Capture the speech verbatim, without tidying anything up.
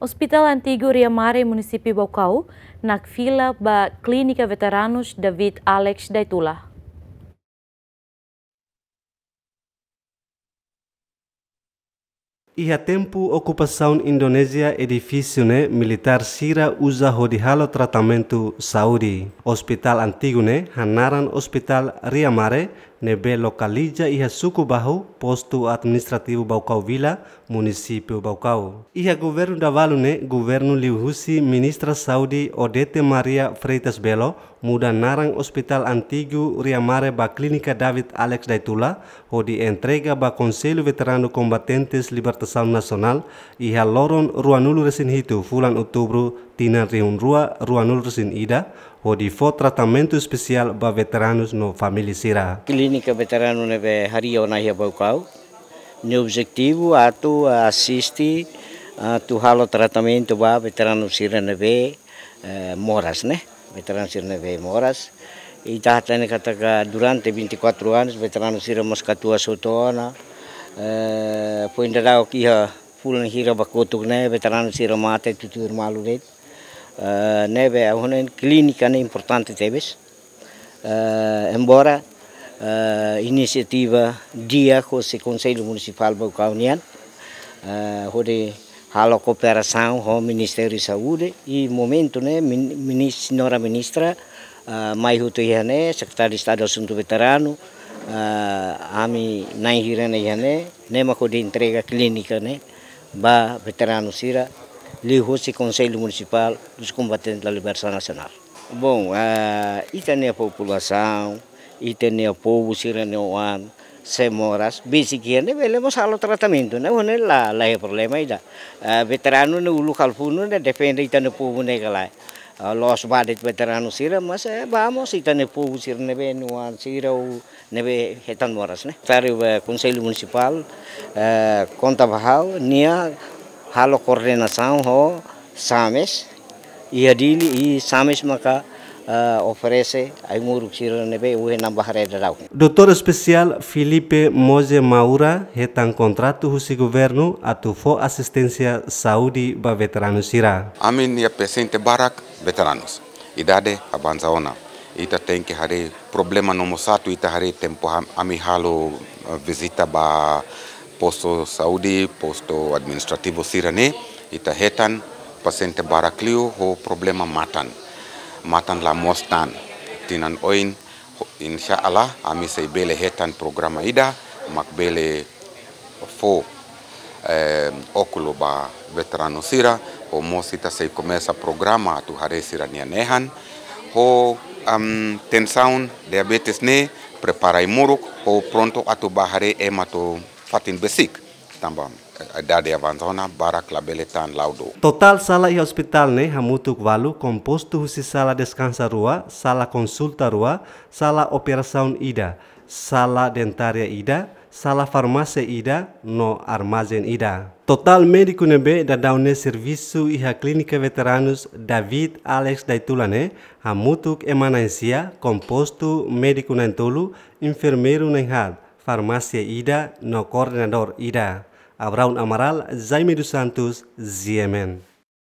Hospital Antigu Ria Mare, Munisípiu Baucau, nakfila ba Klínika Veteranus David Alex Daitula. Iha tempu okupasaun Indonézia, edifísiu ne'e militár sira uza hodi halo tratamentu saúde. Hospital antigu ne'e hanaran Hospital Ria Mare, ne'ebé lokaliza iha Suku Bahu, Postu Administrativu Baucau Vila, Munisípiu Baucau. Iha governu dahuluk ne'e, governu liuhusi Ministra Saúde Odete Maria Freitas Belo muda naran Hospital Antigu Ria Mare ba Klínika David Alex Daitula, hodi entrega ba Konsellu Veteranu Kombatentes Libertasaun Nasionál, iha loron ruanulu-resin-hitu fulan Outubru tinan rihun rua ruanulu-resin-ida, hodi fó tratamentu espesiál ba veteranus no família sira. Klínika veteranu ne'ebé harii ona iha Baucau, nia objetivu atu asiste, atu halo tratamentu ba veteranu sira ne'ebé, eh, moras, ne'e? Veteranu sira ne'ebé moras. Ita hatene katak durante vinte e quatro anos, veteranu sira mós katuas hotu ona. Eh, foin daudauk iha fulan hira ba kotuk ne'e, veteranu sira mate tutuir malu de'it. Eh, ne'ebé ha'u hanoin klínika ne'e importante tebes. Eh, embora, eh, inisiativa di'ak husi Konsellu Munisipál Baucau nian, eh, hodi halo kooperasaun ho Ministériu Saúde, i momentu ne'e min-, minis-, señora ministra, eh, mai hotu iha ne'e, Sekretáriu Estadu Asuntu Veteranu, eh, ami na'in hira ne'e iha ne'e, ne'e mak hodi entrega klínika ne'e ba veteranu sira, liuhusi Konsellu Munisipál dos Combatentes da Libertação Nacional. Bom, ah, ita-nia populasaun, ita-nia povu sira-nia oan sei moras, besik iha ne'e bele mós halo tratamentu, ne'e, ne'e la, la iha problema ida. Ah, veteranu ne'e uluk halo funu ne'e defende ita-nia povu ne'e ka lae. Ah, loos ba de'it veteranu sira, mas, eh, vamos, ita-nia povu sira ne'ebé nia oan sira ou ne'ebé hetan moras, ne'e. Sekretáriu, eh, Konsellu Munisipál, eh, konta ba ha'u, nia halo koordenasaun ho SAMES, iha Dili, i SAMES maka, eh, oferese ai-moruk sira ne'ebé ohin ne'e ba haree daudaun. Doutór Espesiál Filipe Moze Maura hetan kontratu husi governu atu fó asisténsia saúde ba veteranu sira. Ami-nia pasiente barak veteranus. Idade avansa ona. Ita tenke haree problema nomós atu ita haree tempu ham-, ami halo, eh, vizita ba postu saúde, postu administrativu sira-ne'e, ita hetan pasiente barak liu ho problema matan. Matan la moos tan. Tinan oin, ho-, insya Allah, ami sei bele hetan programa ida, mak bele fó, eh, ókulu ba veteranu sira, ho mós ita sei komesa programa atu haree sira-nia nehan, ho, am, tensaun, diabetes ne'e, prepara ai-moruk, ho prontu atu ba haree ema to'o fatin besik. Tanba, eh, idade avansa ona, barak labele tan laudu. Totál sala iha hospital ne'e hamutuk ualu, kompostu husi sala deskansa rua, sala konsulta rua, sala operasaun ida, sala dentária ida, sala farmásia ida, no armazén ida. Totál médiku ne'ebé daudaun ne'e servisu iha Klínika Veteranus David Alex Daitula ne'e, hamutuk ema na'in-sia, kompostu médiku na'in-tolu, enfermeiru na'in-haat, farmásia ida, no koordenadór ida. Abraão Amaral, Jaime dos Santos, G M N.